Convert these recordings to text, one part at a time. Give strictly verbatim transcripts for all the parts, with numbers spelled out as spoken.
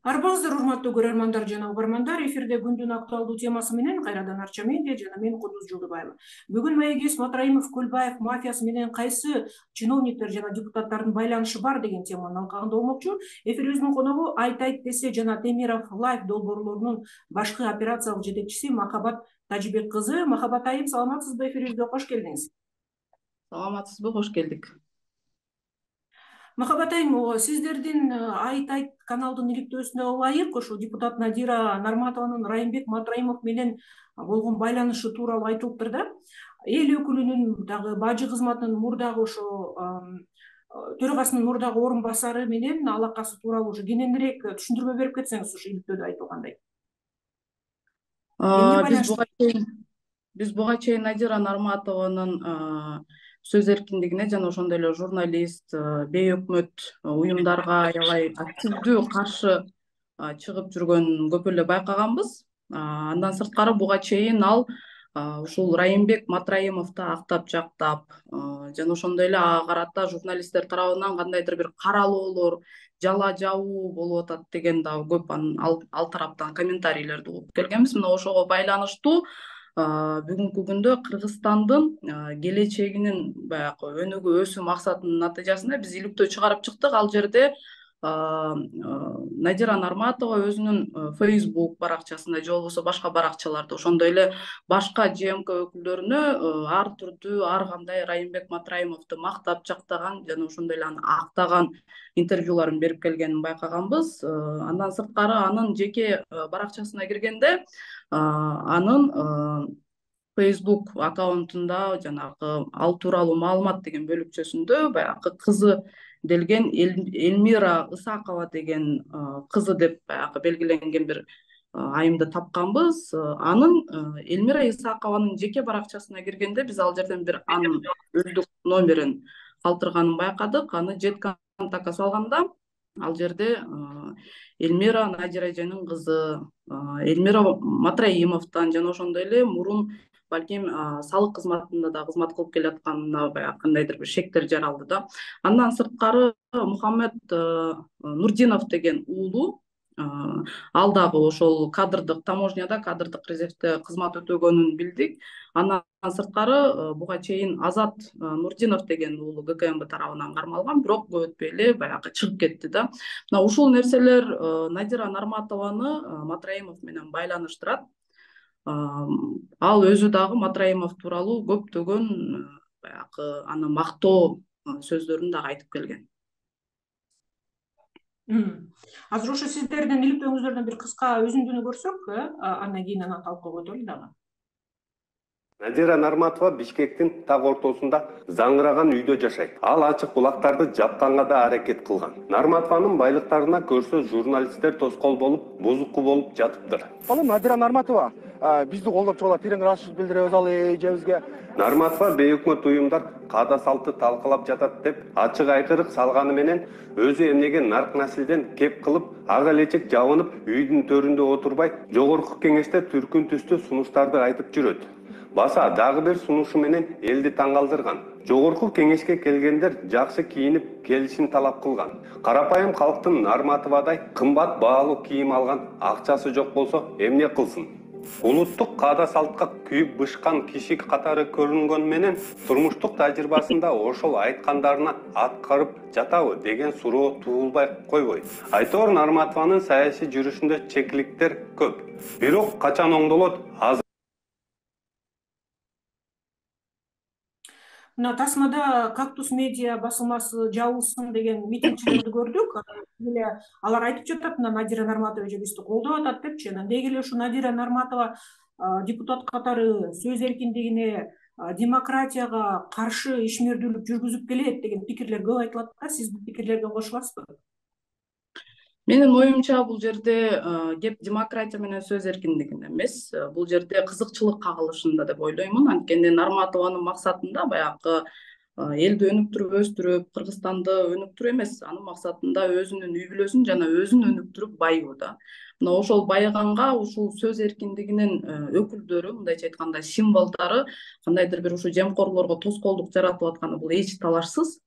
Арбаңыздар урматтуу көрөрмандар жана угармандар, эфирде күндүн актуалдуу темасы менен кайрадан Арча медиа жана мен Кудуз Жолдубаева. Бүгүн маегибиз Матраимов Көлбаев мафиясы менен кайсы чиновниктер жана депутаттардын байланышы бар деген теманы алкагында болмокчу. Эфирибиздин коногу Айт айт десе жана Темиров Лайф долбоорлорунун башкы операциялык жетекчиси Махабат Тажибек кызы. Махабат айым, саламатсызбы? Эфирибизге кош келдиңиз. Саламатсызбы? Кош келдик. Махабат айым, сиздердин Айт айт каналдын иликтөөсүнө ылайык ошо депутат Надира Нарматованын Райымбек Матраимов менен болгон байланышы тууралуу айтылыптыр да. Эл өкүлүнүн дагы бажы кызматынын мурдагы ошо төрагасынын мурдагы орун басары менен алакасы тууралуу ушу кененирээк түшүндүрмө берип кетсеңиз, ушу иликтөөдө айтылгандай. Биз буга чейин биз буга чейин Надира Нарматованын сөз эркиндигине жана ошондой эле журналист, бейөкмөт уюмдарга аябай активдүү каршы чыгып жүргөнүн көп эле байкаганбыз. Андан сырткары буга чейин ал ушул Райымбек Матраимовду актап жактап жана ошондой эле ага карата журналисттер тарабынан кандайдыр бир каралоолор, жала жабуу болуп атат деген дагы көп ал тараптан комментарийлерди угуп келгенбиз. Мына ошого байланыштуу бүгүнкү күндө Кыргызстандын келечегинин баягы өнүгүү өсүү максатынын натыйжасында биз иликтөө чыгарып чыктык. Ал жерде Надира Нарматова өзүнүн Facebook баракчасында же болбосо башка баракчаларда ошондой эле башка ЖМК өкүлдөрүнө ар түрдүү ар кандай Райымбек Матраимовду мактап жактаган жана ошондой эле аны актаган интервьюларын берип келгенин байкаганбыз. Андан сырткары анын жеке баракчасына киргенде анын Facebook аккаунтунда жанагы ал тууралуу маалымат деген бөлүкчөсүндө баягы кызы делген Эльмира Исакова деген кызы деп баягы белгиленген бир айымды тапканбыз. Анын Эльмира Исакованын жеке баракчасына киргенде биз ал жерден бир анын өздүк номерин калтырганын байкадык. Аны жет контактка салганда ал жерде Эльмира Надира эженин кызы, Эльмира Матраимовдон жана ошондой эле мурун балким салык кызматында да кызмат кылып келатканына баягы кандайдыр бир шектер жаралды да. Андан сырткары Мухаммед Нурдинов деген уулу, ал дагы ошол кадрдык таможняда кадрдык резервде кызмат өтөгөнүн билдик. Андан сырткары буга чейин Азат Нурдинов деген уулу ГКМБ тарабынан кармалган, бирок көп өтпөй эле баягы чыгып кетти да. Мына ушул нерселер Надира Нарматованы Матраимов менен байланыштырат. Ал өзү дагы Матраимов тууралуу көптөгөн баягы аны мактоо сөздөрүн дагы айтып келген. Азыр ошо сиздердин иликтөөңүздөрдөн бир кыска үзүндүнү көрсөк, андан кийин аны талкууга өтөлү дагы. Надира Нарматова Бишкектин так ортосунда заңыраган үйдө жашайт. Ал ачык булактарды жапканга да аракет кылган. Нарматованын байлыктарына көрсө журналисттер тоскоол болуп, бузуку болуп жатыптыр. Ал Надира Нарматова бизди колдоп чыгып, терең ыраазычылык билдиребиз ал эжебизге. Нарматова бейөкмөт уюмдар каада салты талкалап жатат деп ачык айкырык салганы менен өзү эмнеге нарк наслден кеп кылып, ага элечек жабынып, үйдүн төрүндө отурбай, жогорку кеңеште түркүн түстүү сунуштарды айтып жүрөт. Баса дагы бир сунушу менен элди таң калтырган. Жогорку кеңешке келгендер жакшы кийинип келишин талап кылган. Карапайым калктын Нарматовадай кымбат баалуу кийим алган акчасы жок болсо эмне кылсын? Улуттук каада салтка күйүп бышкан киши катары көрүнгөн менен турмуштук тажрыйбасында ошол айткандарына аткарып жатабы деген суроо туулбай койбойт. Айтор Нарматованын саясий жүрүшүндө чекиликтер көп. Бирок качан оңдолот? Мына тасмада Кактус медиа басылмасы жабылсын деген митингчилерди көрдүк. Эле алар айтып жатат, мына Надира Нарматова эжебизди колдоп атат депчи. Деги эле ушу Надира Нарматова депутат катары сөз эркиндигине, демократияга каршы ишмердүүлүк жүргүзүп келет деген пикирлер көп айтылат да. Сиз бул пикирлерге кошуласызбы? Менин оюмча бул жерде кеп демократия менен сөз эркиндигинде эмес, бул жерде кызыкчылык кагылышында деп ойлоймун. Анткени Нарматованын максатында баягы элди өнүктүрүп өстүрүп, Кыргызстанды өнүктүрүү эмес, анын максатында өзүнүн үй бүлөсүн жана өзүн өнүктүрүп байуу да. Мына ошол байыганга ушул сөз эркиндигинин өкүлдөрү, мындайча айтканда символдору кандайдыр бир ушу жемкорлорго тоскоолдук жаратып атканы бул эч талашсыз.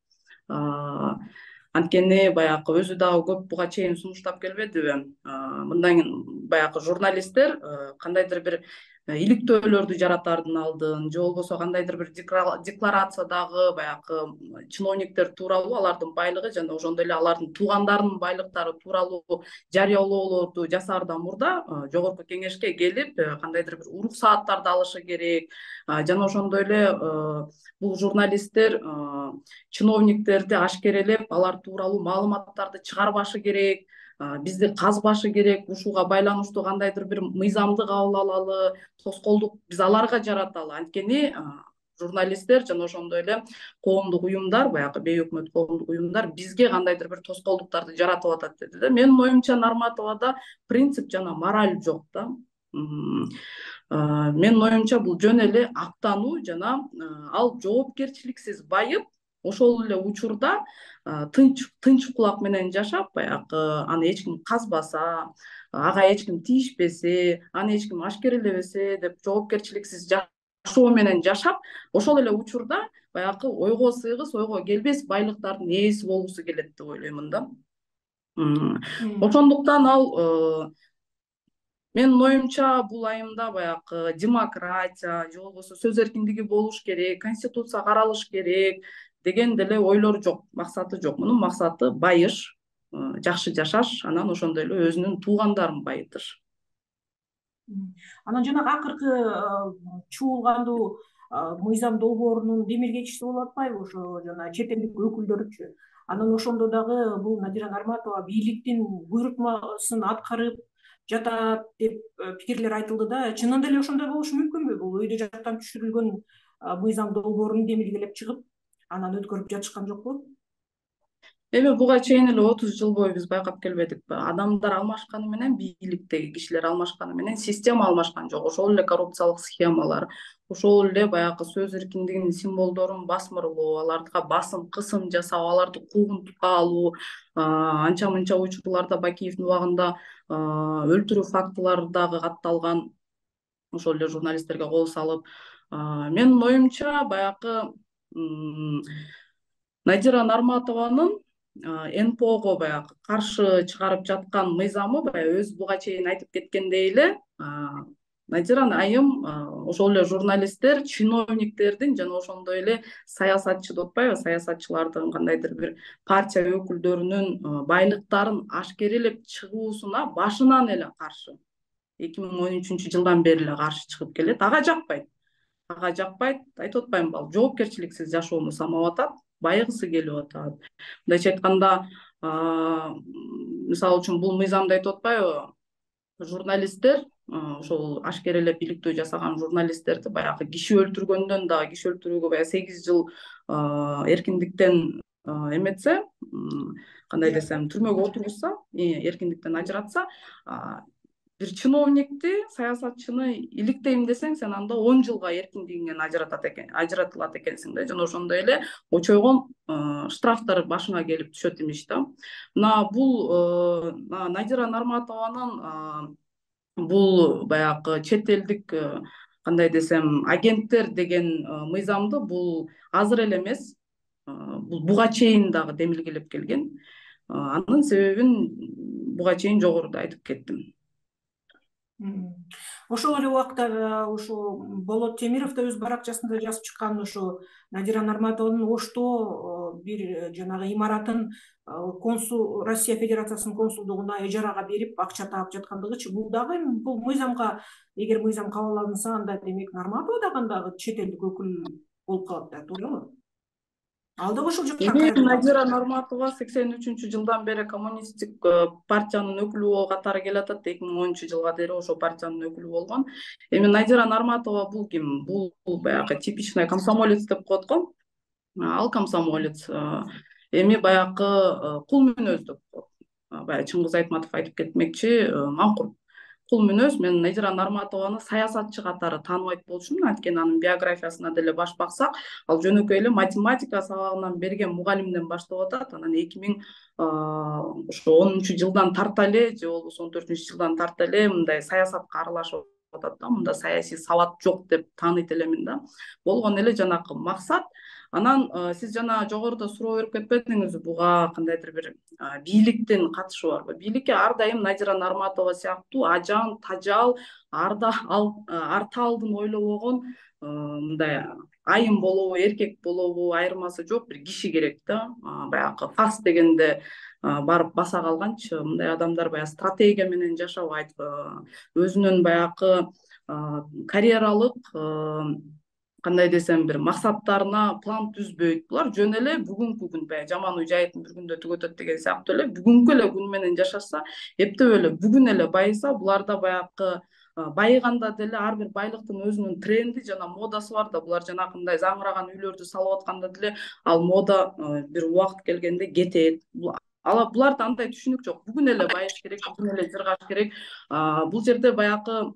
Анткени баягы өзү дагы көп буга чейин сунуштап келбедиби? Мындан баягы журналисттер кандайдыр бир иликтөөлөрдү жаратардын алдын же болбосо кандайдыр бир декларациядагы баягы чиновниктер тууралуу, алардын байлыгы жана ошондой эле алардын туугандарынын байлыктары тууралуу жарыялоолорду жасаардан мурда жогорку кеңешке келип кандайдыр бир уруксааттарды алышы керек. Жана ошондой эле бул журналисттер чиновниктерди ашкерелеп алар тууралуу маалыматтарды чыгарбашы керек, бизди казбашы керек, ушуга байланыштуу кандайдыр бир мыйзамды кабыл алалы, тоскоолдук биз аларга жараталы. Анткени журналисттер жана ошондой эле коомдук уюмдар, баягы бейөкмөт коомдук уюмдар бизге кандайдыр бир тоскоолдуктарды жаратып атат деди да. Менин оюмча Нарматовада принцип жана мораль жок да. Менин оюмча бул жөн эле актануу жана ал жоопкерчиликсиз байып, ошол эле учурда тынч тынч кулак менен жашап, баягы аны эч ким казбаса, ага эч ким тийишпесе, аны эч ким ашкерелебесе деп жоопкерчиликсиз жашоо менен жашап, ошол эле учурда баягы ойго сыйгыс, ойго келбес байлыктардын ээси болгусу келет деп ойлоймун да. Ошондуктан ал менин оюмча бул айымда баягы демократия же болбосо сөз эркиндиги болуш керек, конституция каралыш керек деген деле ойлор жок, максаты жок. Мунун максаты байыш, жакшы жашаш, анан ошондой эле өзүнүн туугандарын байытыш. Анан жанагы акыркы чуулгандуу мыйзам долбоорунун демилгечиси болуп атпайбы ошо жана чет элдик өкүлдөрчү. Анан ошондо дагы бул Надира Нарматова бийликтин буйрутмасын аткарып жатат деп пикирлер айтылды да. Чынында эле ошондой болушу мүмкүнбү? Бул өйдө жактан түшүрүлгөн мыйзам долбоорун демилгелеп чыгып, анан өткөрүп жатышкан жокпу? Эми буга чейин эле отуз жыл бою биз байкап келбедикпи? Адамдар алмашканы менен, бийликтеги кишилер алмашканы менен система алмашкан жок. Ошол эле коррупциялык схемалар, ошол эле баягы сөз эркиндигинин символдорун басмырлоо, аларга басым, кысым жасап, аларды куугунтукка алуу, анча-мынча учурларда Бакиевдин убагында өлтүрүү фактылары дагы катталган, ошол эле журналисттерге кол салып. Менин оюмча баягы Надира Нарматованын эн пэ ого баягы каршы чыгарып жаткан мыйзамы баягы өзү буга чейин айтып кеткендей эле, Надира айым ошол эле журналисттер, чиновниктердин жана ошондой эле саясатчы деп атпайбы, саясатчылардын кандайдыр бир партия өкүлдөрүнүн байлыктарын ашкерелеп чыгуусуна башынан эле каршы. эки миң он үчүнчү жылдан бери эле каршы чыгып келет. Ага жакпайт. Ага жакпайт, айтып атпаймынбы, ал жоопкерчиликсиз жашоону самап атат, байыгысы келип атат. Мындайча айтканда, мисалы үчүн бул мыйзамда айтып атпайбы, журналисттер, ошол ашкерелеп иликтөө жасаган журналисттерди баягы киши өлтүргөндөн дагы, киши өлтүрүүгө баягы сегиз жыл эркиндиктен эметсе, кандай десем, түрмөгө отургузса, эркиндиктен ажыратса, бир чиновникти, саясатчыны иликтейм десең, сен анда он жылга эркиндигиңен ажыратат экен, ажыратылат экенсиң да. Жана ошондой эле очойгон штрафтар башыңа келип түшөт имиш да. Мына бул Надира Нарматованын бул баягы чет элдик кандай десем, агенттер деген мыйзамды бул азыр эле эмес, бул буга чейин дагы демилгелеп келген. Анын себебин буга чейин жогоруда айтып кеттим. Ошол эле убакта ушу Болот Темиров да өз баракчасында жазып чыккан, ушу Надира Нарматованын Ошто бир жанагы имаратын консул, Россия Федерациясынын консулдугуна ижарага берип акча таап жаткандыгычы, бул дагы бул мыйзамга, эгер мыйзам кабыл алынса, анда демек Нарматова дагы чет элдик өкүл болуп калат да, туурабы? Ал да ошол жакка. Эми Надира Нарматова сексен үчүнчү жылдан бери коммунисттик партиянын өкүлү катары келатат. эки миң онунчу жылга дейин ошол партиянын өкүлү болгон. Эми Надира Нарматова бул ким? Бул баягы типичный комсомолец деп коет го. Ал комсомолец. Эми баягы кул мүнөз деп коет. Баягы Чыңгыз Айтматов айтып кетмекчи, маңкур кул мүнөз. Мен Надира Нарматованы саясатчы катары тааныбайт болчумун, анткени анын биографиясына деле баш баксак, ал жөнөкөй эле математика сабагынан берген мугалимден баштап атат. Анан эки миң онунчу жылдан тарта эле, же болбосо он төртүнчү жылдан тарта эле мындай саясатка аралашып атат да. Мында саясий сабат жок деп тааныйт элемин да. Болгон эле жанакы максат Анан сиз жана жогоруда суроо берип кетпедиңизби, буга кандайдыр бир бийликтин катышы барбы? Бийликке ар дайым Назира Нарматова сыяктуу ажан, тажал, арда арта алдын ойлобогон мындай айым болобу, эркек болобу айырмасы жок бир киши керек да. Баягы фас дегенде барып баса калганчы мындай адамдар баягы стратегия менен жашабайт, өзүнүн баягы карьералык кандай десем бир максаттарына план түзбөйт. Булар жөн эле бүгүнкү күн, баягы жаман үй жайыттын бир күндө түгөтөт деген сыяктуу эле бүгүнкү эле күн менен жашаса, эптеп эле бүгүн эле байыса, буларда баягы байыганда деле ар бир байлыктын өзүнүн тренди жана модасы бар да. Булар жанакындай заңыраган үйлөрдү салып атканда деле ал мода бир убакыт келгенде кетет. Буларда андай түшүнүк жок. Бүгүн эле байыш керек, бүгүн эле жыргаш керек. Бул жерде баягы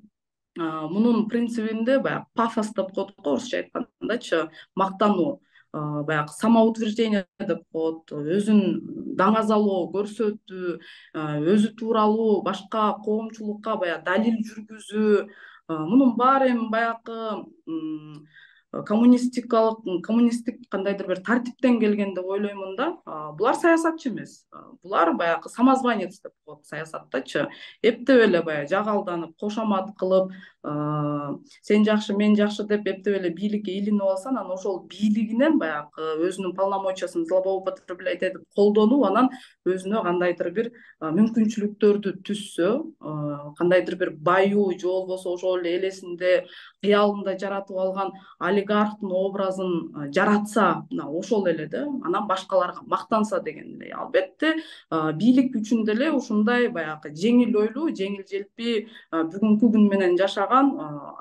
мунун принцибинде баягы пафос деп коет го, орусча айткандачы, мактануу, баягы самоутверждение деп коет, өзүн даңазалоо, көрсөтүү, өзү тууралуу башка коомчулукка баягы далил жүргүзүү, мунун баары эми баягы коммунистикалык, коммунисттик кандайдыр бир тартиптен келген деп ойлоймун да. Булар саясатчы эмес. Булар баягы самозванец деп коет саясаттачы. Эптеп эле баягы жагалданып, кошомат кылып, сен жакшы, мен жакшы деп эптеп эле бийликке илинип алса, анан ошол бийлигинен баягы өзүнүн полномочиясын злоупотреблять этип колдонуп, анан өзүнө кандайдыр бир мүмкүнчүлүктөрдү түзсө, кандайдыр бир баюу же болбосо ошол эле элесинде, кыялында жаратып алган олигархтын образын жаратса, мына ошол эле да, анан башкаларга мактанса деген эле. Албетте бийлик үчүн деле ушундай баягы жеңил ойлуу, жеңил желпи бүгүнкү күн менен жашаган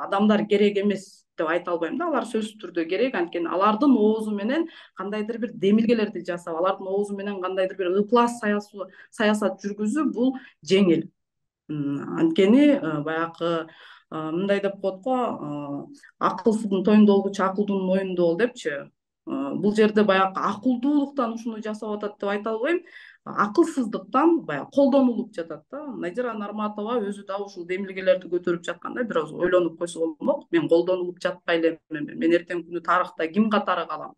адамдар керек эмес деп айта албайм да. Алар сөзсүз түрдө керек, анткени алардын оозу менен кандайдыр бир демилгелерди жасап, алардын оозу менен кандайдыр бир ыплас саясат жүргүзүү бул жеңил. Анткени баягы мындай деп коет го, акылсыздын тоюнда болгучу акылдуунун моюнунда бол депчи. Бул жерде баягы акылдуулуктан ушуну жасап атат деп айта албайм, акылсыздыктан баягы колдонулуп жатат да. Назира Нарматова өзү да ушул демилгелерди көтөрүп жатканда бир аз ойлонуп койсо болмок. Мен колдонулуп жатпай элем, мен эртеңки күнү тарыхта ким катары калам?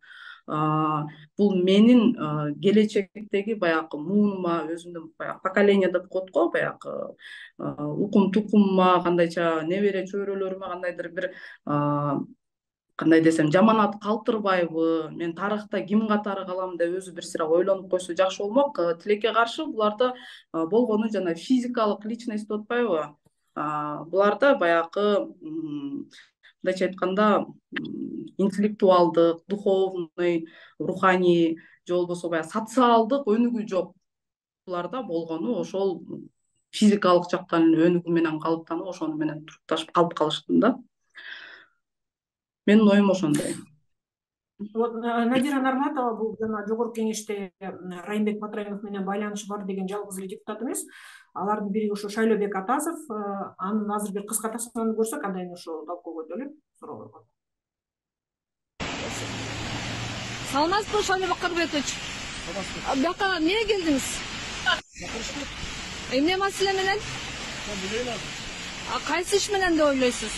Бул менин келечектеги баягы муунума, өзүмдүн баягы поколение деп коет го, баягы укум тукумума, кандайча небере чөйрөлөрүмө кандайдыр бир кандай десем жаманат калтырбайбы, мен тарыхта ким катары калам деп өзү бир сыйра ойлонуп койсо жакшы болмок. Тилекке каршы буларда болгону жана физикалык личность деп атпайбы? Буларда баягы мындайча айтканда интеллектуалдык, духовный, руханий же болбосо баягы социалдык өнүгүү жок. Буларда болгону ошол физикалык жактан өнүгүү менен калыптанып, ошону менен турукташып калып калыштын да. Менин оюм ошондой. Вот Назира Нарматова бул жана жогорку кеңеште Райымбек Матраимов менен байланышы бар деген жалгыз эле депутат эмес. Алардын бири ошо Шайлообек Атазов. Анын азыр бир кыска таснаны көрсөк, андан кийин ошо талкууга өтөлү. Суроо койгон. Саламатсызбы, Шайлообек Карбекович? Бияка эмне келдиңиз? Эмне маселе менен? Кайсы иш менен деп ойлойсуз?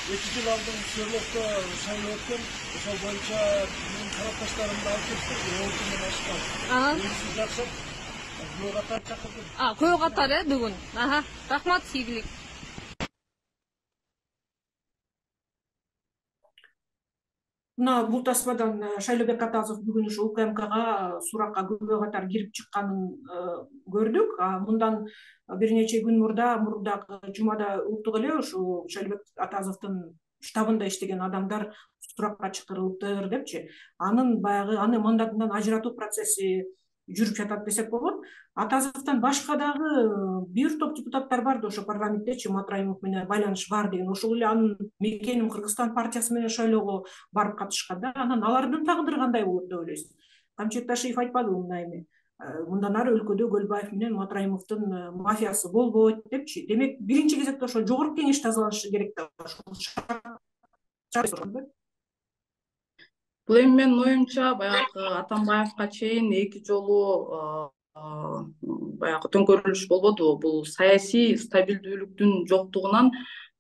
эки жыл алдын Серлокто шайлоо өткөн, ошол боюнча менин карапташтарымды алып кеттик, он күндөн ашкан. Сиз жакшап, көө катар чакырдым. А, көө катар э бүгүн. Аха, рахмат, ийгилик. Мына бул таспадан Шайлообек Атазов бүгүн ушу УКМКга суракка күбө катар кирип чыкканын көрдүк. Мындан бир нече күн мурда, мурдагы жумада уктук эле ушу Шайлообек Атазовдун штабында иштеген адамдар суракка чакырылыптыр депчи. Анын баягы аны мандатынан ажыратуу процесси жүрүп жатат десек болот. Атазовдон башка дагы бир топ депутаттар бар да ошо парламенттечи, Матраимов менен байланыш бар деген. Ошол эле анын мекеним Кыргызстан партиясы менен шайлоого барып катышкан да. Анан алардын тагдыры кандай болот деп ойлойсуз? Камчет Ташиев айтпадыбы мына эми? Мындан ары өлкөдө Көлбаев менен Матраимовдун мафиясы болбойт депчи. Демек, биринчи кезекте ошо жогорку кеңеш тазаланышы керек да. Бул эми менин оюмча баягы Атамбаевга чейин эки жолу баягы төңкөрүлүш болбодубу? Бул саясий стабилдүүлүктүн жоктугунан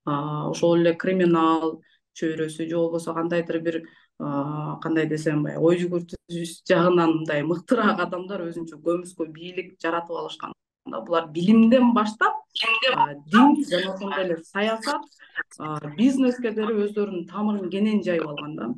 ошол эле криминал чөйрөсү же болбосо кандайдыр бир кандай десем баягы ой жүгүртүш жагынан мындай мыктыраак адамдар өзүнчө көмүскө бийлик жаратып алышкан. Булар билимден баштап дин жана ошондой эле саясат, бизнеске деле өздөрүнүн тамырын кенен жайып алган да.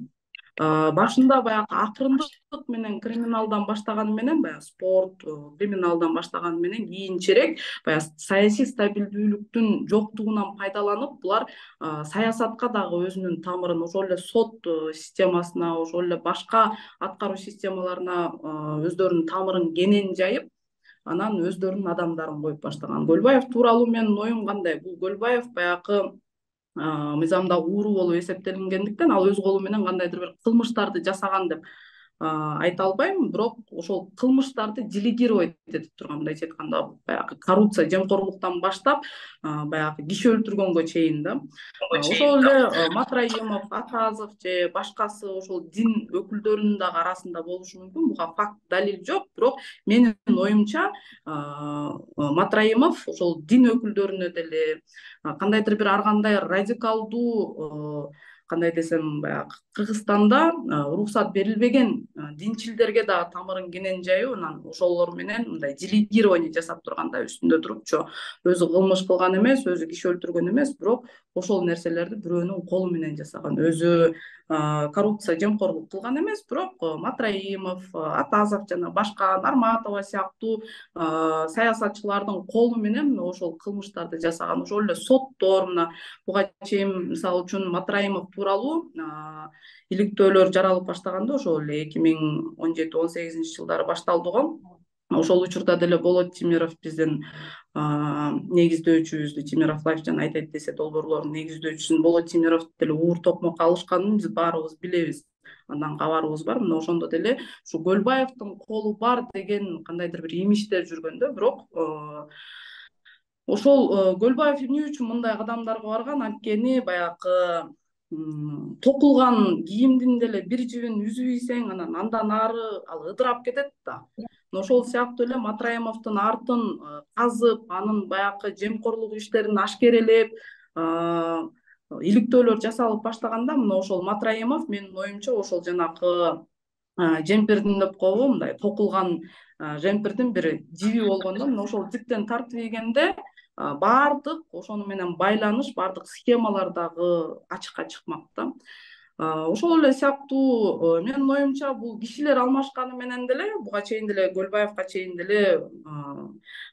Башында баягы акырындык менен криминалдан баштаганы менен, баягы спорт, криминалдан баштаганы менен кийинчерээк баягы саясий стабилдүүлүктүн жоктугунан пайдаланып, булар саясатка дагы өзүнүн тамырын, ошол эле сот системасына, ошол эле башка аткаруу системаларына өздөрүнүн тамырын кенен жайып, анан өздөрүнүн адамдарын коюп баштаган. Көлбаев тууралуу менин оюм кандай? Бул Көлбаев баягы мыйзамда ууру болуп эсептелингендиктен ал өз колу менен кандайдыр бир кылмыштарды жасаган деп айта албайм, бирок ошол кылмыштарды делегировать этип турган, мындайча айтканда баягы коррупция, жемкорлуктан баштап баягы киши өлтүргөнгө чейин да. Ошол эле Матраимов, Атазов же башкасы ошол дин өкүлдөрүнүн дагы арасында болушу мүмкүн. Буга факт, далил жок, бирок менин оюмча Матраимов ошол дин өкүлдөрүнө деле кандайдыр бир ар кандай радикалдуу, кандай десем, баягы Кыргызстанда уруксат берилбеген динчилдерге дагы тамырын кенен жайып, анан ошолор менен мындай делегирование жасап турганда үстүндө турупчу, өзү кылмыш кылган эмес, өзү киши өлтүргөн эмес, бирок ошол нерселерди бирөөнүн колу менен жасаган. Өзү коррупция, жемкорлук кылган эмес, бирок Матраимов, Атазов жана башка Нарматова сыяктуу саясатчылардын колу менен ошол кылмыштарды жасаган. Ошол эле соттор, мына буга чейин мисалы үчүн Матраимов тууралуу иликтөөлөр жаралып баштаганда, ошол эле эки миң он жети он сегизинчи жылдары башталды го. Ошол учурда деле Болот Тимиров биздин негиздөөчүбүздү, Тимиров Лайф жана айтайт десе долбоорлордун негиздөөчүсүн Болот Тимировду деле уур токмокко алышканын биз баарыбыз билебиз. Андан кабарыбыз бар. Мына ошондо деле ушу Көлбаевдин колу бар деген кандайдыр бир имичтер жүргөндө, бирок ошол Көлбаев эмне үчүн мындай кадамдарга барган? Анткени баягы токулган кийимдин деле бир жибин үзүп ийсең, анан андан ары ал ыдырап кетет да. Ошол сыяктуу эле Матраимовдун артын казып, анын баягы жемкорлук иштерин ашкерелеп, иликтөөлөр жасалып баштаганда, мына ошол Матраимов менин оюмча ошол жанакы жемпирдин деп коебу, мындай токулган жемпирдин бир жиби болгондо, мына ошол жиптен тартып ийгенде баардык ошону менен байланыш, баардык схемалар дагы ачыкка чыкмак да. Ошол эле сыяктуу менин оюмча бул кишилер алмашканы менен деле, буга чейин деле Көлбаевга чейин деле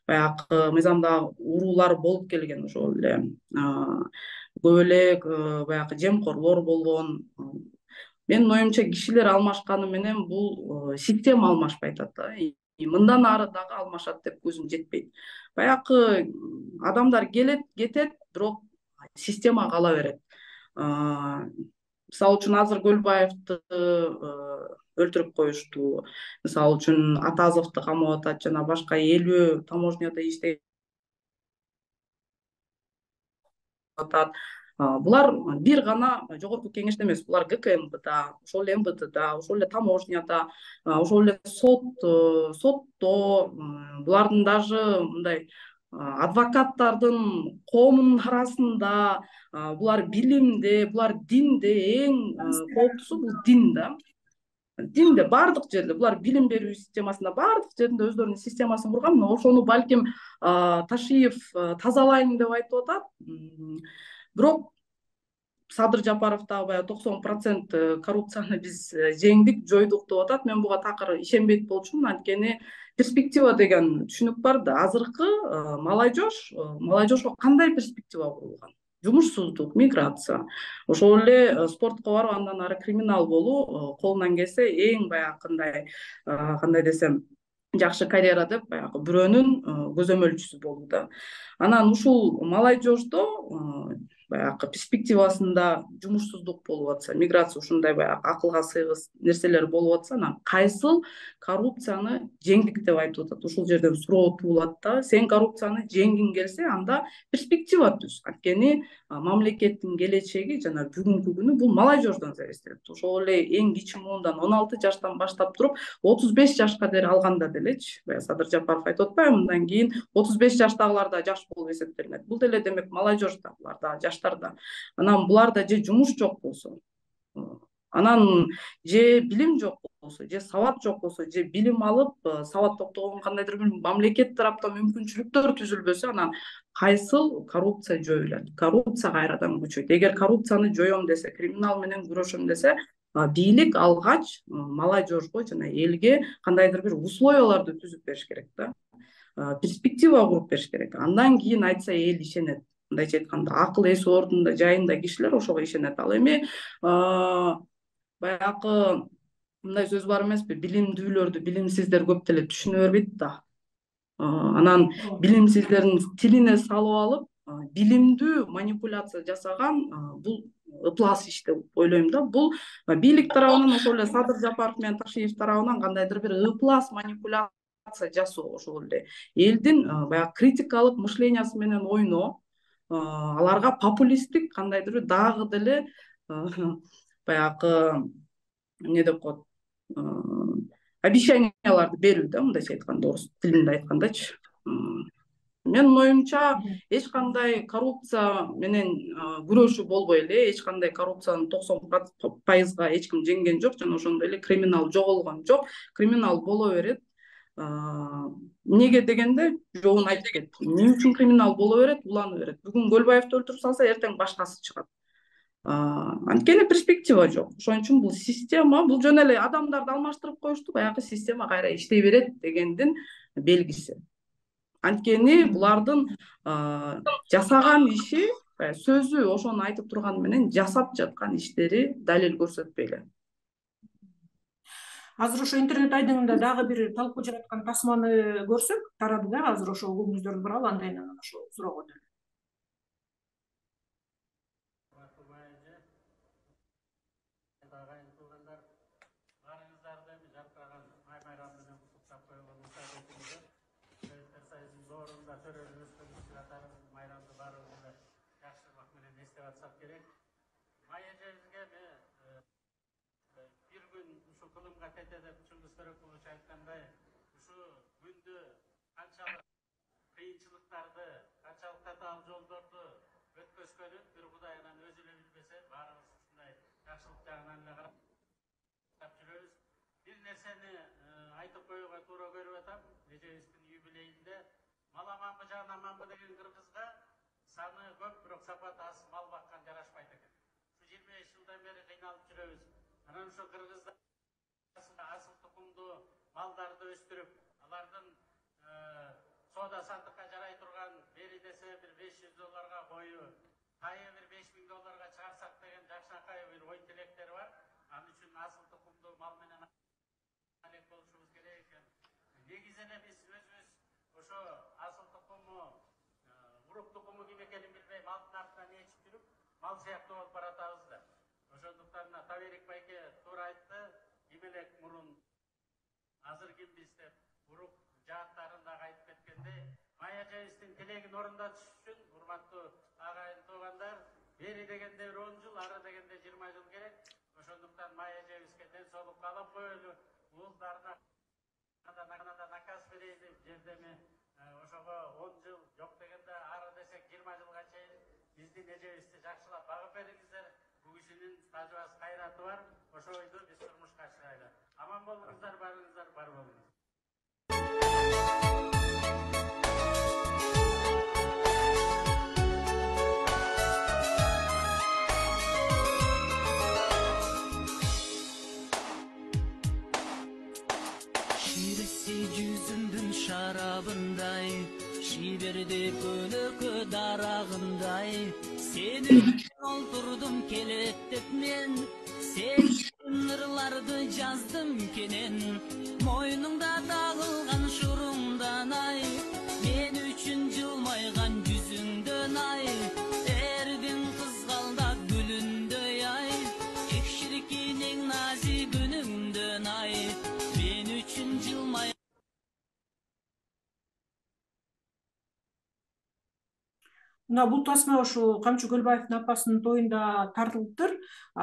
баягы мыйзамда уруулар болуп келген, ошол эле көп эле баягы жемкорлор болгон. Менин оюмча кишилер алмашканы менен бул система алмашпай атат да. Мындан ары дагы алмашат деп көзүм жетпейт. Баягы адамдар келет, кетет, бирок система кала берет. Мисалы үчүн азыр Көлбаевди өлтүрүп коюшту. Мисалы үчүн Атазовду камап атат жана башка элүү таможняда иштейт атат. Булар бир гана жогорку кеңеште эмес, булар ГКМБда, ошол эле МВДда, ошол эле таможняда, ошол эле сот, сотто, булардын даже мындай адвокаттардын коомдун арасында, булар билимде, булар динде, эң кооптусу бул дин да. Динде баардык жерде булар билим берүү системасында баардык жерде өздөрүнүн системасын курган. Ошону балким Ташиев тазалайын деп айтып атат. Бирок Садыр Жапаров дагы баягы токсон процент коррупцияны биз жеңдик, жойдук деп атат. Мен буга такыр ишенбейт болчумун, анткени перспектива деген түшүнүк бар да. Азыркы молодежь, молодежьго кандай перспектива курулган? Жумушсуздук, миграция, ошол эле спортко барып, андан ары криминал болуу, колунан келсе эң баягындай кандай десем жакшы карьера деп баягы бирөөнүн көзөмөлчүсү болуу да. Анан ушул молодежьдо баягы перспективасында жумушсуздук болуп атса, миграция ушундай баягы акылга сыйгыс нерселер болуп атса, анан кайсыл коррупцияны жеңдик деп айтып атат. Ушул жерден суроо туулат да. Сен коррупцияны жеңгиң келсе, анда перспектива түз. Анткени мамлекеттин келечеги жана бүгүнкү күнү бул молодежьдон зависит этет. Ошол эле эң кичи муундан он алты жаштан баштап туруп отуз беш жашка дейин алганда делечи, баягы Садыр Жапаров айтып атпайбы, мындан кийин отуз беш жаштагылар да жаш болуп эсептелинет. Бул деле демек молодежь да, булар да жаш жаштарда. Анан буларда же жумуш жок болсо, анан же билим жок болсо, же сабат жок болсо, же билим алып сабаттуулугун кандайдыр бир мамлекет тараптан мүмкүнчүлүктөр түзүлбөсө, анан кайсыл коррупция жоюлат, коррупция кайрадан күчөйт. Эгер коррупцияны жоём десе, криминал менен күрөшөм десе, бийлик алгач молодежьго жана элге кандайдыр бир условияларды түзүп бериш керек да, перспектива куруп бериш керек. Андан кийин айтса эл ишенет. Мындайча айтканда, акыл эси ордунда жайында кишилер ошого ишенет. Ал эми баягы мындай сөз бар эмеспи, билимдүүлөрдү билимсиздер көп деле түшүнө бербейт да. Анан билимсиздердин тилине салып алып, билимдүү манипуляция жасаган бул ыплас иш деп ойлойм да. Бул бийлик тарабынан, ошол эле Садыр Жапаров менен Ташиев тарабынан кандайдыр бир ыплас манипуляция жасоо, ошол эле элдин баягы критикалык мышлениясы менен ойноо, аларга популисттик кандайдыр бир дагы деле баягы эмне деп коет, обещанияларды берүү да, мындайча айтканда, орус тилинде айткандачы. Менин оюмча эч кандай коррупция менен күрөшүү болбой эле, эч кандай коррупциянын токсон пайызга эч ким жеңген жок, жана ошондой эле криминал жоголгон жок. Криминал боло берет. Эмнеге дегенде жообун айтып кетти. Эмне үчүн криминал боло берет, улана берет. Бүгүн Көлбаевди өлтүрүп салса, эртең башкасы чыгат. Анткени перспектива жок. Ошон үчүн бул система, бул жөн эле адамдарды алмаштырып коюшту, баягы система кайра иштей берет дегендин белгиси. Анткени булардын жасаган иши, сөзү ошону айтып турганы менен жасап жаткан иштери далил көрсөтпөй эле. Азыр ошо интернет айдыңында дагы бир талкуу жараткан тасманы көрсөк, тарады да, азыр ошо көңүлүңүздөрдү буралы, андайын анан ошо суроого өтөлү. Кылымга тете деп Чыңгыз Төрөкулович айткандай, ушу күндү канчалык кыйынчылыктарды, канчалык татаал жолдорду өткөзгөнүн бир Кудай анан өзү эле билбесе, баарыбыз ушундай жакшылык жагынан эле карап жүрөбүз. Бир нерсени айтып коюуга туура көрүп атам. Эжебиздин юбилейинде маламанбы жанаманбы деген кыргызга саны көп, бирок сапаты аз мал баккан жарашпайт экен. Ушу жыйырма беш жылдан бери кыйналып жүрөбүз. Анан ошо кыргыздар асыл тукумдуу малдарды өстүрүп, алардын соода сандыкка жарай турган, бери десе бир беш жүз долларга кою, кайы бир беш миң долларга чыгарсак деген жакшынакай бир ой тилектери бар. Ал үчүн асыл тукумдуу мал менен алек болушубуз керек экен. Негизи эле биз өзүбүз ошо асыл тукуму, урук тукуму ким экенин билбей, малдын артынан ээрчип жүрүп, мал сыяктуу болуп баратабыз да. Ошондуктан Таберик байке туура айтты. Ким элек мурун, азыр кимбиз деп урук жааттарын дагы айтып кеткендей, Мая эжебиздин тилегин орундатыш үчүн, урматтуу агайын туугандар, бери дегенде бир он жыл, ары дегенде жыйырма жыл керек. Ошондуктан Мая эжебизге ден соолук каалап коелу, уулдарына да наказ берели, жердеми ошого он жыл, жок дегенде ары десек жыйырма жылга чейин биздин эжебизди жакшылап багып бериңиздер. Бу кишинин тажыбас кайраты бар, ошо ойду биз турмушка ашырайлы. Аман болуңуздар, барыңыздар, бар болуңуздар. Ширisi жүзүмдүн шарабындай, шиберди көнөкө дарагындай, сени олтурдум келет деп мен, сен ырларды жаздым кенен, мойнуңда тагылган шурумдан ай, мен үчүн жылмайган жүзүңдөн ай, эрдин кызгалдап гүлүндөй ай, экширкин эң назик үнүңдөн ай, мен үчүн жылмай. Мына бул тасма ошо Камчы Көлбаевдин апасынын тоюнда тартылыптыр.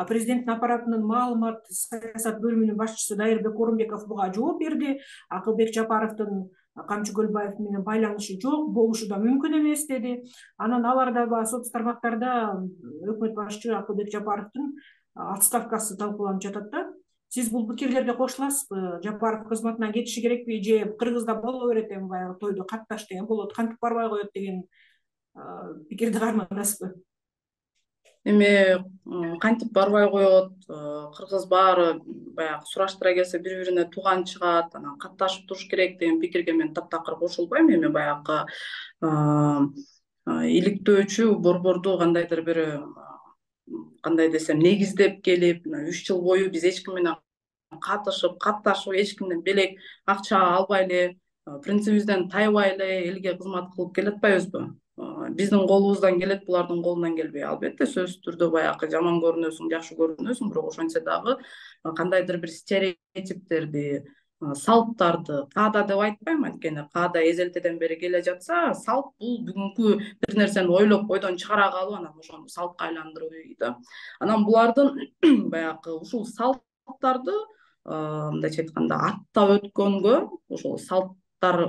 Президенттин аппаратынын маалымат саясат бөлүмүнүн башчысы Дайырбек Орунбеков буга жооп берди. Акылбек Жапаровдун Камчы Көлбаев менен байланышы жок, болушу да мүмкүн эмес деди. Анан алар дагы соц тармактарда өкмөт башчы Акылбек Жапаровдун отставкасы талкууланып жатат да. Сиз бул пикирлерге кошуласызбы? Жапаров кызматынан кетиши керекпи же Кыргызда боло берет эми баягы тойдо катташ деген болот, кантип барбай коет деген пикирди кармадасызбы? Эми кантип барбай коет, кыргыз баары баягы сураштыра келсе бири-бирине тууган чыгат, анан катташып туруш керек деген пикирге мен таптакыр кошулбайм. Эми баягы иликтөөчү борборду кандайдыр бир кандай десем негиздеп келип, үч жыл бою биз эч ким менен катышып, катташып, эч кимден белек акча албай эле, принцибибизден тайбай эле элге кызмат кылып келатпайбызбы? Биздин колубуздан келет, булардын колунан келбей. Албетте сөзсүз түрдө баягы жаман көрүнөсүң, жакшы көрүнөсүң, бирок ошентсе дагы кандайдыр бир стереотиптерди, салттарды, каада деп айтпайм, анткени каада эзелтеден бери келе жатса, салт бул бүгүнкү бир нерсени ойлоп бойдон чыгара калып, анан ошону салтка айландыруу да. Анан булардын баягы ушул салттарды мындайча айтканда аттап өткөнгө, ошол салттар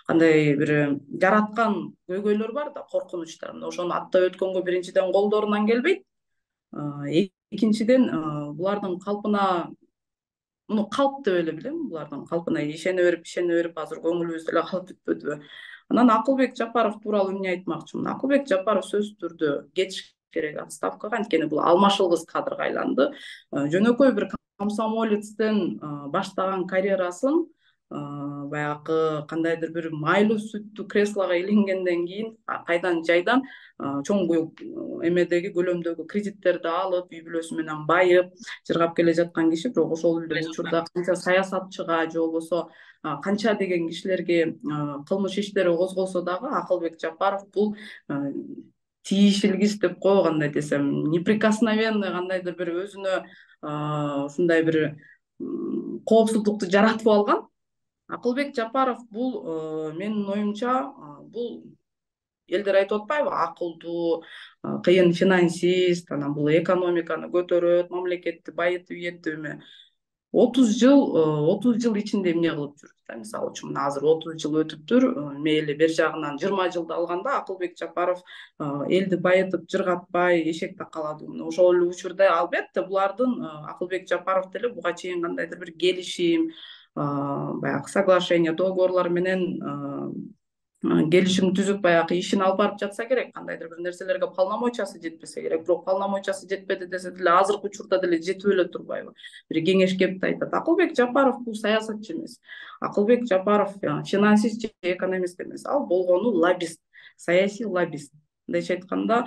кандай бир жараткан көйгөйлөр бар да, коркунучтар. Ошону аттап өткөнгө биринчиден колдорунан келбейт. Экинчиден булардын калпына, муну калп деп эле билем, булардын калпына ишене берип, ишене берип азыр көңүлүбүздө эле калып бүтпөдүбү? Анан Акылбек Жапаров тууралуу эмне айтмакчымын? Акылбек Жапаров сөзсүз түрдө кетиш керек отставкага, анткени бул алмашылгыс кадрга айланды. Жөнөкөй бир комсомолецтен баштаган карьерасын баягы кандайдыр бир майлуу сүттүү креслого иленгенден кийин кайдан жайдан чоң эмедеги көлөмдөгү кредиттерди алып, үй бүлөсү менен байып жыргап келе жаткан киши, бирок ошол эле учурда канча саясатчыга же болбосо канча деген кишилерге кылмыш иштери козголсо дагы Акылбек Жапаров бул тиешелгис деп койгандай десем, неприкосновенный кандайдыр бир өзүнө ушундай бир коопсуздукту жаратып алган. Акылбек Жапаров бул менин оюмча бул элдер айтып атпайбы, акылдуу, кыйын финансист, анан бул экономиканы көтөрөт, мамлекетти байытып ийеттиби? отуз жыл отуз жыл ичинде эмне кылып жүр? Мисалы үчүн мына азыр отуз жыл өтүптүр. Мейли бер жагынан жыйырма жылды алганда Акылбек Жапаров элди байытып жыргатпай эшек такалады. Ошол эле учурда албетте булардын Акылбек Жапаров деле буга чейин кандайдыр бир келишим, баягы соглашение, договорлор менен келишим түзүп баягы ишин алып барып жатса керек, кандайдыр бир нерселерге полномочиясы жетпесе керек. Бирок полномочиясы жетпеди десе деле азыркы учурда деле жетип эле турбайбы? Бир кеңеш кеп айтат. Акылбек Жапаров бул саясатчы эмес. Акылбек Жапаров финансист же экономист эмес. Ал болгону лоббист, саясий лоббист. Мындайча айтканда,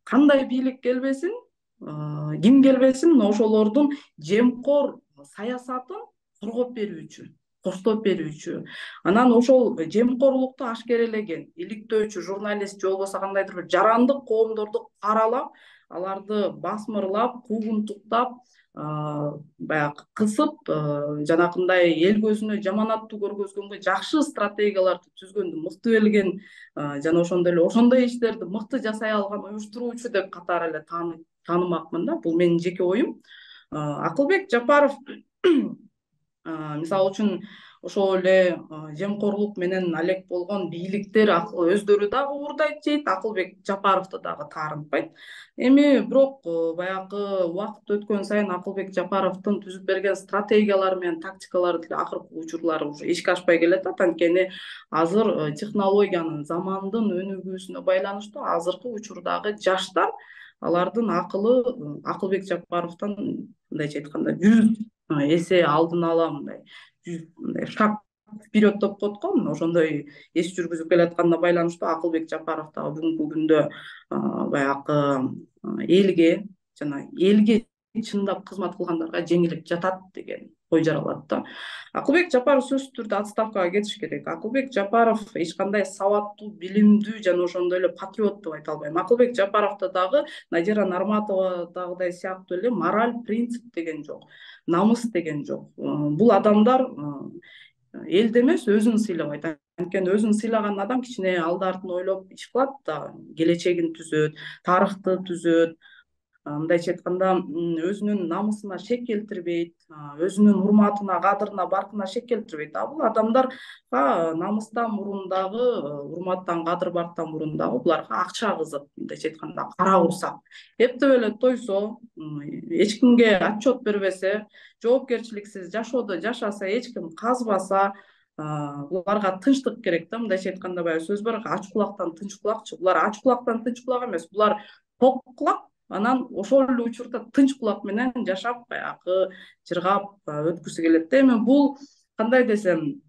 кандай бийлик келбесин, ким келбесин, ошолордун жемкор саясатын коргоп берүүчү, коштоп берүүчү. Анан ошол жемкорлукту ашкерелеген иликтөөчү журналист же болбосо кандайдыр бир жарандык коомдорду каралап, аларды басмырлап, куугунтуктап, баягы кысып, жанакындай эл көзүнө жаманаттуу көргөзгөнгө жакшы стратегияларды түзгөндү мыкты билген жана ошондой эле ошондой иштерди мыкты жасай алган уюштуруучу деп катары эле таанымакмын да. Бул менин жеке оюм. Акылбек Жапаров мисалы үчүн ошол эле жемкорлук менен алек болгон бийликтер өздөрү дагы уурдайт дейт, Акылбек Жапаровду дагы таарынтпайт. Эми бирок баягы убакыт өткөн сайын Акылбек Жапаровдун түзүп берген стратегиялары менен тактикалары деле акыркы учурлары уже ишке ашпай келатат, анткени азыр технологиянын, замандын өнүгүүсүнө байланыштуу азыркы учурдагы жаштар алардын акылы Акылбек Жапаровдон мындайча айтканда жүз эсе алдын ала мындай шаг вперед деп коет го, ошондой эс жүргүзүп келатканына байланыштуу Акылбек Жапаров дагы бүгүнкү күндө баягы элге жана элге чындап кызмат кылгандарга жеңилип жатат деген ой жаралат да. Акылбек Жапаров сөзсүз түрдө отставкага кетиш керек. Акылбек Жапаров эч кандай сабаттуу, билимдүү жана ошондой эле патриот деп айта албайм. Акылбек Жапаровдо дагы Надира Нарматовадагыдай сыяктуу эле мораль, принцип деген жок, намыс деген жок. Бул адамдар элди эмес, өзүн сыйлабайт. Анткени өзүн сыйлаган адам кичине алды артын ойлоп иш кылат да, келечегин түзөт, тарыхты түзөт. мындайча айтканда өзүнүн намысына шек келтирбейт, өзүнүн урматына, кадырына, баркына шек келтирбейт. А бул адамдарга намыстан мурун дагы, урматтан, кадыр барктан мурун дагы буларга акча кызык, мындайча айтканда кара курсак. Эптеп эле тойсо, эч кимге отчет бербесе, жоопкерчиликсиз жашоодо жашаса, эч ким казбаса, буларга тынчтык керек да. Мындайча айтканда баягы сөз бар, ач кулактан тынч кулакчы. Булар ач кулактан тынч кулак эмес, булар ток кулак. Анан ошол эле учурда тынч кулак менен жашап, баягы жыргап өткүсү келет да. Эми бул кандай десем,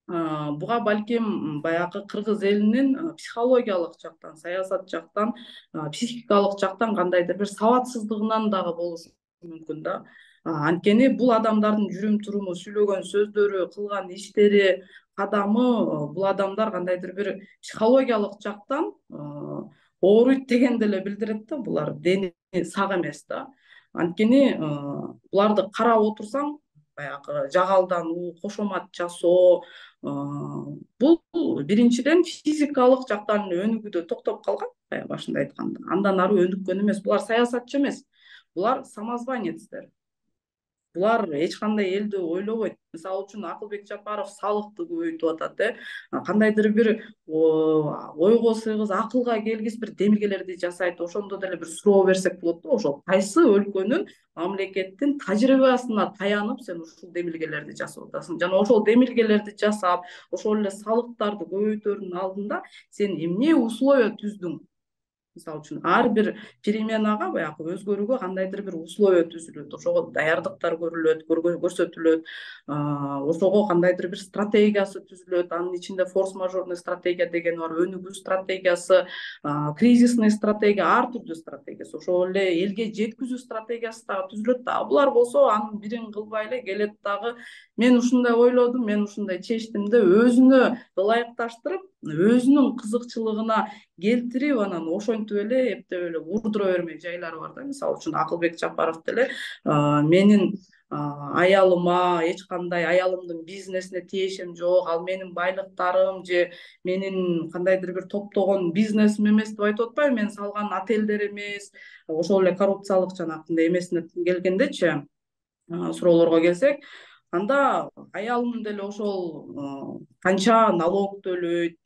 буга балким баягы кыргыз элинин психологиялык жактан, саясат жактан, психикалык жактан кандайдыр бир сабатсыздыгынан дагы болушу мүмкүн да. Анткени бул адамдардын жүрүм туруму, сүйлөгөн сөздөрү, кылган иштери, кадамы, бул адамдар кандайдыр бир психологиялык жактан ооруйт дегенди эле билдирет да. Булар дени сак эмес да. Анткени буларды карап отурсаң, баягы жагалдануу, кошомат жасоо, бул биринчиден физикалык жактан өнүгүүдө токтоп калган, баягы башында айтканда. Андан ары өнүккөн эмес. Булар саясатчы эмес. Булар самозванецтер. Булар эч кандай элди ойлобойт. Мисалы үчүн Акылбек Жапаров салыкты көбөйтүп атат, э. Кандайдыр бир ойго сыйгыз, акылга келгис бир демилгелерди жасайт. Ошондо деле бир суроо берсек болот да, ошол кайсы өлкөнүн, мамлекеттин тажрыйбасына таянып сен ушул демилгелерди жасап атасың. Жана ошол демилгелерди жасап, ошол эле салыктарды көбөйтөрдүн алдында сен эмне условия түздүң? Мисалы үчүн ар бир переменага, баягы өзгөрүүгө кандайдыр бир условия түзүлөт, ошого даярдыктар көрүлөт, көрсөтүлөт, ошого кандайдыр бир стратегиясы түзүлөт. Анын ичинде форс-мажорный стратегия деген бар, өнүгүү стратегиясы, кризисный стратегия, ар түрдүү стратегиясы, ошол эле элге жеткизүү стратегиясы дагы түзүлөт да. Булар болсо анын бирин кылбай эле келет дагы, мен ушундай ойлодум, мен ушундай чечтим деп өзүнө ылайыкташтырып, өзүнүн кызыкчылыгына келтирип, анан ошентип эле эптеп эле урдура бермек жайлары бар да. Мисалы үчүн Акылбек Жапаров деле менин аялыма эч кандай, аялымдын бизнесине тиешим жок, ал менин байлыктарым же менин кандайдыр бир топтогон бизнесим эмес деп айтып атпайбы, мен салган отелдер эмес, ошол эле коррупциялык жанагындай эмесине келгендечи, суроолорго келсек, анда аялым деле ошол канча налог төлөйт,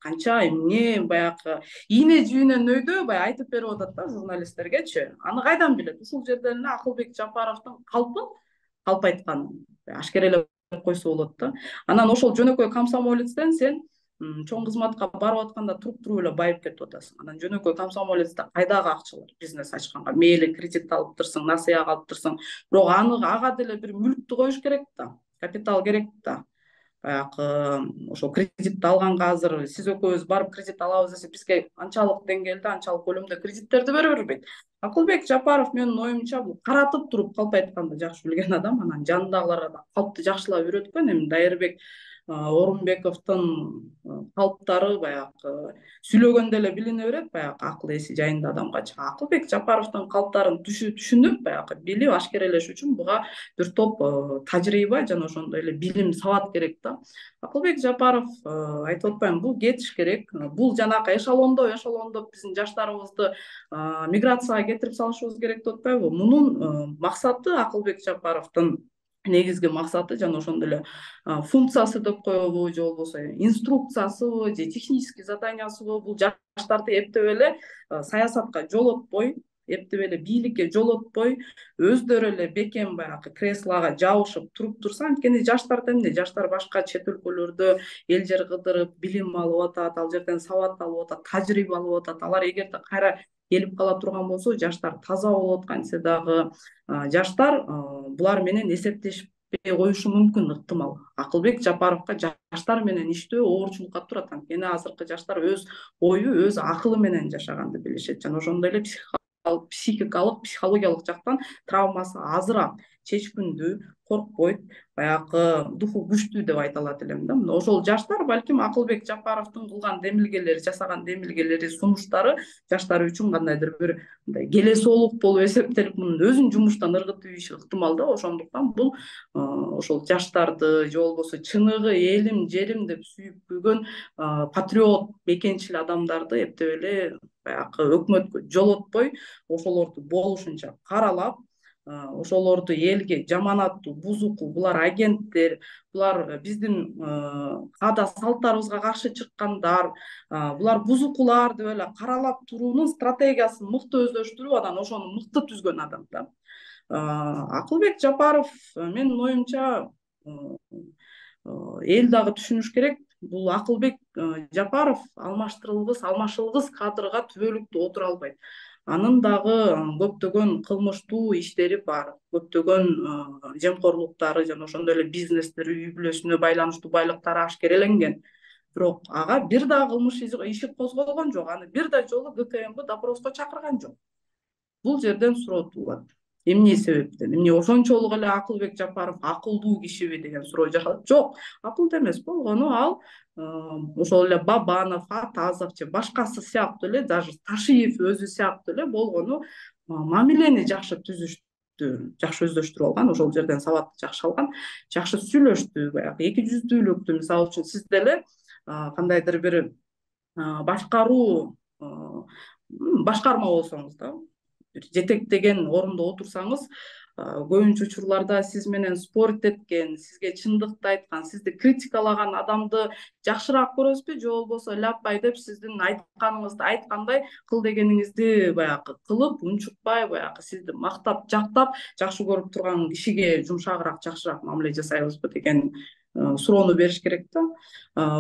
канча эмне баягы ийне жибинен өйдө баягы айтып берип атат да журналисттергечи. Аны кайдан билет? Ушул жерден эле Акылбек Жапаровдун калпын, калп айткан ашкерелеп койсо болот да. Анан ошол жөнөкөй комсомолецтен сен чоң кызматка барып атканда туруп-туруп эле байып кетип атасың. Анан жөнөкөй комсомолецте кайдагы акчалар? Бизнес ачканга мейли кредит алыптырсың, насыя алыптырсың, бирок аны ага деле бир мүлктү коюш керек да, капитал керек да. Баягы ошол кредитти алганга азыр сиз экөөбүз барып кредит алабыз десе, бизге анчалык деңгээлде, анчалык көлөмдө кредиттерди бере бербейт. Акылбек Жапаров менин оюмча бул каратып туруп калп айтканды жакшы билген адам, анан жанындагыларга да калпты жакшылап үйрөткөн. Эми Дайырбек Орунбековдун калптары баягы сүйлөгөндө эле билине берет, баягы акыл эси жайында адамгачы. Акылбек Жапаровдун калптарын түшүнүп, баягы билип ашкерелеш үчүн буга бир топ тажрыйба жана ошондой эле билим, сабат керек да. Акылбек Жапаров айтып атпаймынбы, бул кетиш керек. Бул жанакы эшелондо, эшелондоп биздин жаштарыбызды миграцияга кетирип салышыбыз керек деп атпайбы? Мунун максаты, Акылбек Жапаровдун негизги максаты жана ошондой эле функциясы деп коебу, же болбосо инструкциясыбы, же технический заданиясыбы, бул жаштарды эптеп эле саясатка жолотпой, эптеп эле бийликке жолотпой, өздөрү эле бекем баягы креслого жабышып туруп турса. Анткени жаштар эмне? Жаштар башка чет өлкөлөрдө эл жер кыдырып, билим алып атат, ал жерден сабат алып атат, тажрыйба алып атат. Алар эгерде кайра келип кала турган болсо, жаштар таза болот. Кантсе дагы жаштар булар менен эсептешпей коюшу мүмкүн, ыктымал. Акылбек Жапаровго жаштар менен иштөө оорчулукка турат. Анткени азыркы жаштар өз ою, өз акылы менен жашаганды билишет жана ошондой эле психикалык, психологиялык жактан травмасы азыраак. чечкиндүү, коркпойт, баягы духу күчтүү деп айта алат элем да. Мына ошол жаштар балким Акылбек Жапаровдун кылган демилгелери, жасаган демилгелери, сунуштары жаштар үчүн кандайдыр бир мындай келесоолук болуп эсептелип, мунун өзүн жумуштан ыргытып ийиши ыктымал да. Ошондуктан бул ошол жаштарды же болбосо чыныгы элим, жерим деп сүйүп күйгөн патриот, мекенчил адамдарды эптеп эле баягы өкмөткө жолотпой, ошолорду болушунча каралап, ошолорду элге жаманаттуу, бузуку, булар агенттер, булар биздин каада салттарыбызга каршы чыккандар, булар бузукулар деп эле каралап туруунун стратегиясын мыкты өздөштүрүп, анан ошону мыкты түзгөн адам да. Акылбек Жапаров, менин оюмча, эл дагы түшүнүш керек. Бул Акылбек Жапаров алмаштырылгыс, алмашылгыс кадрга түбөлүктүү отура албайт. Анын дагы көптөгөн кылмыштуу иштери бар, көптөгөн жемкорлуктары жана ошондой эле бизнестер, үй бүлөсүнө байланыштуу байлыктары ашкереленген. Бирок ага бир да кылмыш иши козголгон жок, аны бир да жолу ГКМБ допроско чакырган жок. Бул жерден суроо туулат. Эмне себептен? Эмне ошончолук эле Акылбек Жапаров акылдуу кишиби деген суроо жагалат. Жок, акылдуу эмес болгону ал ошол эле Бабанов, Атазов же башкасы сыяктуу эле, даже Ташиев өзү сыяктуу эле болгону мамилени жакшы түзүштү, жакшы өздөштүрүп алган, ошол жерден сабатты жакшы алган, жакшы сүйлөштү, баягы эки жүздүүлүктү, мисалы үчүн сиз деле кандайдыр бир башкаруу башкарма болсоңуз да, бир жетектеген орунда отурсаңыз, көбүнчө учурларда сиз менен спорт эткен, сизге чындыкты айткан, сизди критикалаган адамды жакшыраак көрөсүзбү, же болбосо ляппай деп сиздин айтканыңызды айткандай, кыл дегениңизди баягы кылып, унчукпай, баягы сизди мактап, жактап, жакшы көрүп турган кишиге жумшагыраак, жакшыраак мамиле жасайбызбы деген суроону бериш керек да.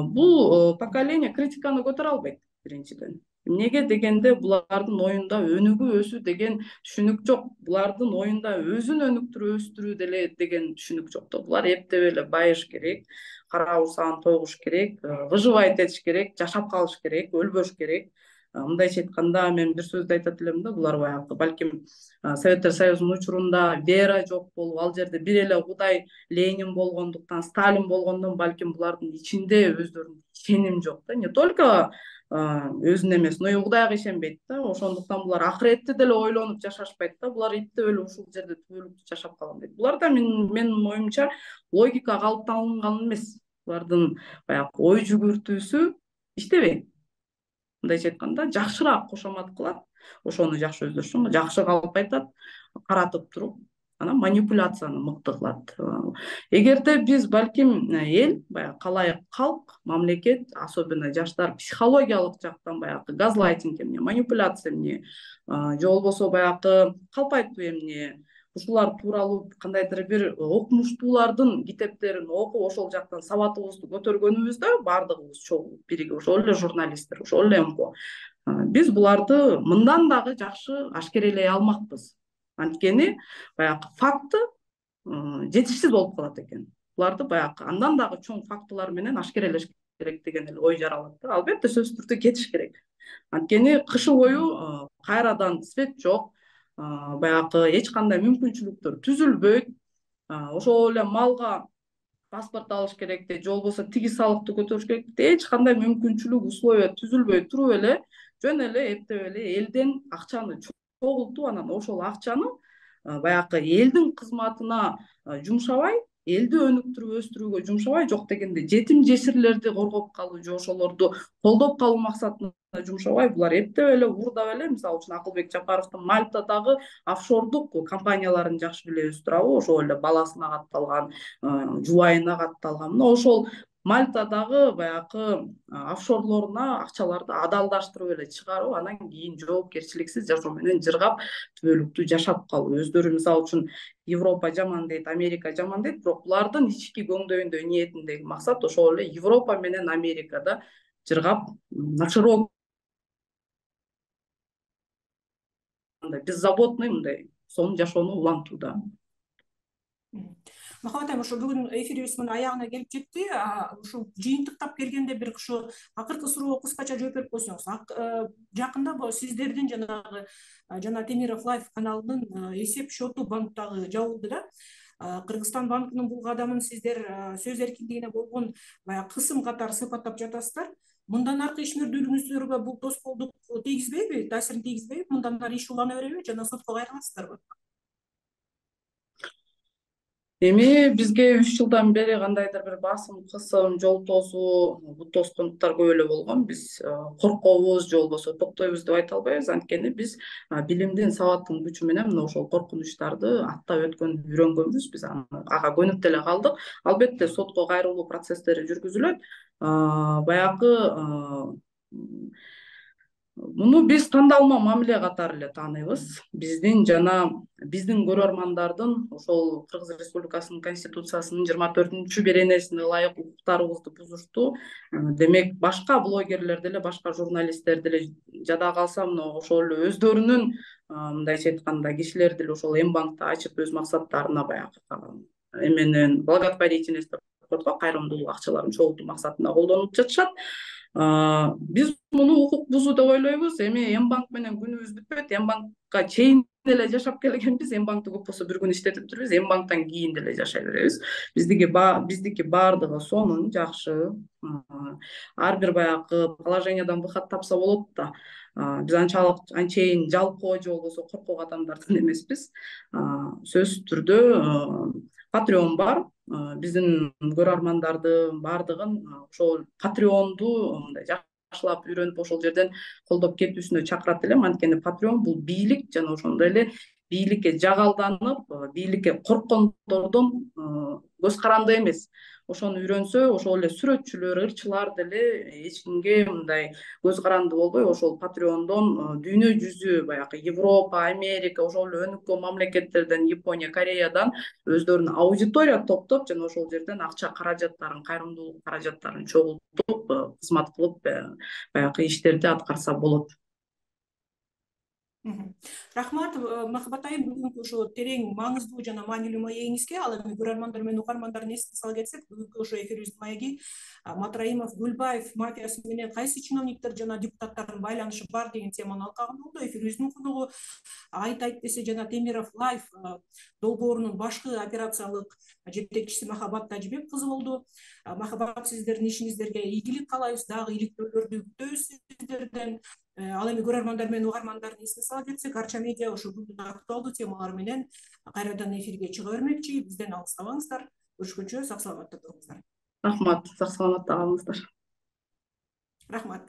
Бул поколение критиканы көтөрө албайт биринчиден. Эмнеге дегенде булардын оюнда өнүгүү өсүү деген түшүнүк жок. Булардын оюнда өзүн өнүктүрүп өстүрүү деле деген түшүнүк жок да. Булар эптеп эле байыш керек, кара урсагын тогуш керек, выживать этиш керек, жашап калыш керек, өлбөш керек. Мындайча айтканда, мен бир сөздү айтат элем да, булар баягы балким Советтер Союзунун учурунда вера жок болуп, ал жерде бир эле Кудай Ленин болгондуктан, Сталин болгондон балким булардын ичинде өздөрүнүн ишеним жок да. Не только өзүнө эмес, но и Кудайга ишенбейт да. Ошондуктан булар акыретти деле ойлонуп жашашпайт да. Булар иптеп эле ушул жерде түбөлүктүү жашап калган дейт. Буларда менин оюмча логика калыптанган эмес. Булардын баягы ой жүгүртүүсү иштебейт. Мындайча айтканда, жакшыраак кошомат кылат, ошону жакшы өздөшүн, жакшы калп айтат, каратып туруп, анан манипуляцияны мыкты кылат. Эгерде биз балким эл, баягы калайык калк, мамлекет, особенно жаштар психологиялык жактан баягы газлайтинг эмне, манипуляция эмне, же болбосо баягы калп айтуу эмне, ушулар тууралуу кандайдыр бир окумуштуулардын китептерин окуп, ошол жактан сабатыбызды көтөргөнүбүздө, баардыгыбыз чогуу биригип, ошол эле журналисттер, ошол эле МКО, биз буларды мындан дагы жакшы ашкерелей алмакпыз. Анткени баягы факты жетишсиз болуп калат экен. Буларды баягы андан дагы чоң фактылар менен ашкерелеш керек деген эле ой жаралат да. Албетте сөзсүз түрдө кетиш керек. Анткени кышы бою кайрадан свет жок, баягы эч кандай мүмкүнчүлүктөр түзүлбөйт. Ошол эле малга паспорт алыш керек де, же болбосо тиги салыкты көтөрүш керек де, эч кандай мүмкүнчүлүк, условия түзүлбөй туруп эле жөн эле эптеп эле элден акчаны чогултуп, анан ошол акчаны баягы элдин кызматына жумшабай, элди өнүктүрүп өстүрүүгө жумшабай, жок дегенде жетим жесирлерди коргоп калуу же ошолорду колдоп калуу максатына жумшабай, булар эптеп эле уурдап эле, мисалы үчүн Акылбек Жапаровдун Мальтадагы офшордук компанияларын жакшы билебиз туурабы, ошол эле баласына катталган, жубайына катталган. Мына ошол Мальтадагы баягы офшорлоруна акчаларды адалдаштырып эле чыгарып, анан кийин жоопкерчиликсиз жашоо менен жыргап, түбөлүктүү жашап калуу. Өздөрү мисалы үчүн Европа жаман дейт, Америка жаман дейт, бирок булардын ички көңдөйүндө, ниетиндеги максат ошол эле Европа менен Америкада жыргап, наширок беззаботный мындай сонун жашоону улантууда. Махабат айым, ошо бүгүн эфирибиз мына аягына келип жетти. Ушу жыйынтыктап келгенде бир ушу акыркы суроого кыскача жооп берип койсоңуз. Жакында сиздердин жанагы жана Темиров Лайф каналынын эсеп счету банктагы жабылды да. Кыргызстан банкынын бул кадамын сиздер сөз эркиндигине болгон баягы кысым катары сыпаттап жатасыздар. Мындан аркы ишмердүүлүгүңүздөргө бул тоскоолдук тийгизбейби, таасирин тийгизбейби? Мындан ары иш улана береби жана сотко кайрыласыздарбы? Эми бизге үч жылдан бери кандайдыр бир басым, кысым, жол тосуу, бут тоскондуктар көп эле болгон. Биз коркобуз же болбосо токтойбуз деп айта албайбыз. Анткени биз билимдин, сабаттын күчү менен мына ошол коркунучтарды аттап өткөндү үйрөнгөнбүз. Биз ага көнүп деле калдык. Албетте сотко кайрылуу процесстери жүргүзүлөт. Баягы муну биз тандалма мамиле катары эле тааныйбыз. Биздин жана биздин көрөрмандардын ошол Кыргыз Республикасынын Конституциясынын жыйырма төртүнчү беренесине ылайык укуктарыбызды бузушту. Демек башка блогерлер деле, башка журналисттер деле жада калса, мына ошол эле өздөрүнүн мындайча айтканда кишилер деле ошол М-банкты ачып өз максаттарына баягы эменен благотворительность деп коет го, кайрымдуулук акчаларын чогултуу максатында колдонуп жатышат. Биз муну укук бузуу деп ойлойбуз. Эми М-банк менен күнүбүз бүтпөйт. М-банкка чейин деле жашап келгенбиз. М-банкты көп болсо бир күн иштетиптирбиз. М-банктан кийин деле жашай беребиз. Биздики биздики баардыгы сонун, жакшы. Ар бир баягы положениядан выход тапса болот да. Биз анчалык анчейин жалкоо же болбосо коркок адамдардан эмеспиз. Сөзсүз түрдө Patreon бар. Биздин көрөрмандарды баардыгын ошол Patreonду мындай жакшылап үйрөнүп ошол жерден колдоп кетүүсүнө чакырат элем. Анткени Patreon бул бийлик жана ошондой эле бийликке жагалданып, бийликке корккондордун көз каранды эмес. Ошону үйрөнсө, ошол эле сүрөтчүлөр, ырчылар деле эч кимге мындай көз каранды болбой, ошол Patreon'дон дүйнө жүзү баягы Европа, Америка, ошол эле өнүккөн мамлекеттерден, Япония, Кореядан өздөрүнүн аудитория топтоп, жана ошол жерден акча каражаттарын, кайрымдуулук каражаттарын чогултуп, кызмат кылып, баягы иштерди аткарса болот. Рахмат, Махабат айым, бүгүнкү ошо терең, маңыздуу жана маанилүү маегиңизге, ал эми көрөрмандар менен угармандардын эсине сала кетсек, бүгүнкү ошо эфирибиздин маеги Матраимов, Гүлбаев мафиясы менен кайсы чиновниктер жана депутаттардын байланышы бар деген теманы алкагында болду. Эфирибиздин коногу Айт айт десе жана Темиров Лайф долбоорунун башкы операциялык жетекчиси Махабат Тажибек кызы болду. Махабат, сиздердин ишиңиздерге ийгилик каалайбыз, дагы иликтөөлөрдү күтөбүз сиздерден. Ал эми көрөрмандар менен угармандардын эсине сала кетсек, Арча медиа ошо күндүн актуалдуу темалары менен кайрадан эфирге чыга бермекчи. Бизден алыстабаңыздар. Көрүшкөнчө сак саламатта туруңуздар. Рахмат, сак саламатта калыңыздар. Рахмат.